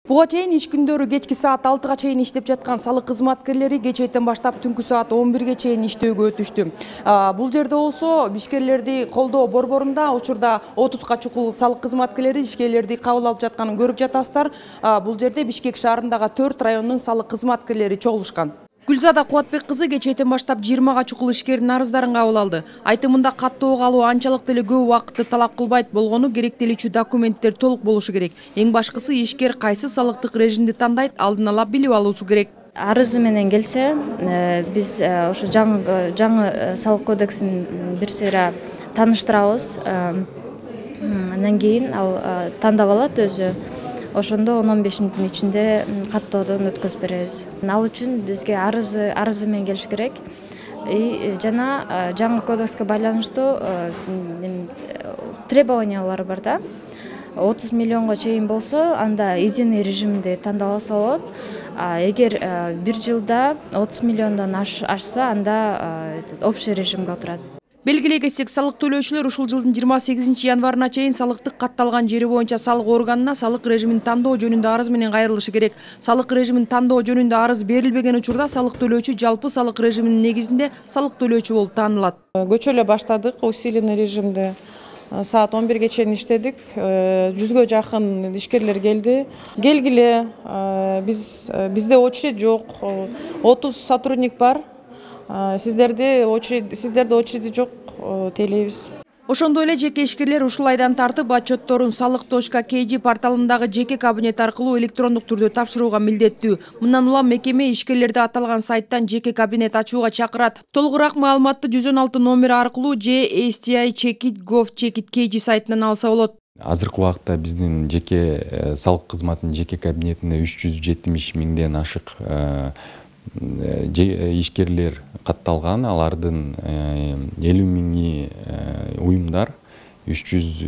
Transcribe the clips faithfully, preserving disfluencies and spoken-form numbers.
Буга чейин иш күндөрү кечки саат алтыга чейин иштеп жаткан салык кызматкерлери кечээден баштап түнкү саат он бирге чейин иштөөгө өтүштү. Бул жерде болсо ишкерлерди колдоо борборунда учурда отузга чукул салык кызматкерлери ишкерлерди кабыл алып жатканын көрүп жатасыздар. Бул жерде Бишкек шаарындагы төрт райондун салык кызматкерлери чогулушкан. Гүлзада Кубатбек кызы кечээден баштап жыйырмага чукул ишкердин арыздарын кабыл алды. Айтымында каттоого алуу анчалык деле көп убакытты талап кылбайт болгону керектелүүчү документтер толук болушу керек. Эң башкысы ишкер кайсы салыктык режимди тандайт, алдын ала билип алуусу керек. Арызы менен келсе, биз ошо жаңы жаңы салык кодексин бир сыйра тааныштырабыз. Андан кийин ал тандап алат өзү. Ошондо он он беш мүнөттүн ичинде каттоодон өткөзүп беребиз. Ал үчүн бизге арызы арызы менен келиш керек. И жана жаңы кодекске байланыштуу требованиялар бар да. отуз миллионго чейин болсо, анда единый режимди тандалса болот. Эгер бир жылда отуз миллиондон ашса, анда общий режимге отурат. Белгилей кетсек, салык төлөөчүлөр ушул жылдын жыйырма сегизинчи январына чейин салыктык катталган жери боюнча салык органына салык режимин тандоо жөнүндө арыз менен кайрылышы керек. Салык режимин тандоо жөнүндө арыз берилбеген учурда салык төлөөчү жалпы салык режиминин негизинде салык төлөөчү болуп таанылат. Көчө эле баштадык усиленный режимде. Саат он бирге чейин иштедик. Жүзгө жакын ишкерлер келди. Келгиле, биз бизде очередь жок. отуз сотрудник бар. Сиздерде очередь, сиздерде очередь жок, тейлейбиз. Ошондой эле жеке ишкерлер ушул айдан тартып отчетторун салык точка кей жи порталындагы жеке кабинет аркылуу электрондук түрдө тапшырууга милдеттүү. Мындан улам мекеме ишкерлерди аталган сайттан жеке кабинет ачууга чакырат. Толугураак маалыматты жүз он алты номери аркылуу же эс ти ай чекит гов чекит кей жи сайтынан алса болот. Азыркы убакта биздин жеке салык кызматынын жеке кабинетинде үч жүз жетимиш миңден ашык ишкерлер катталган. Алардын элүү миңи уюмдар, үч жүз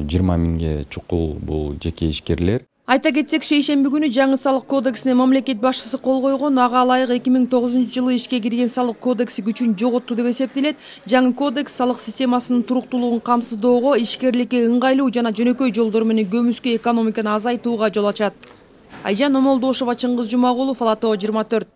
жыйырма миңге чукул бул жеке ишкерлер. Айта кетсек, шейшемби күнү жаңы салык кодексине мамлекет башчысы кол койгон. Ага ылайык эки миң тогузунчу жылы ишке кирген салык кодекси күчүн жоготту деп эсептелет. Жаңы кодекс салык системасынын туруктуулугун камсыздоого, ишкерликке ыңгайлуу жана жөнөкөй жолдор менен көмүскө экономиканы азайтууга жол ачат. Айжан Омолдошова, Чыңгыз Жумагулов, Ала Тоо жыйырма төрт.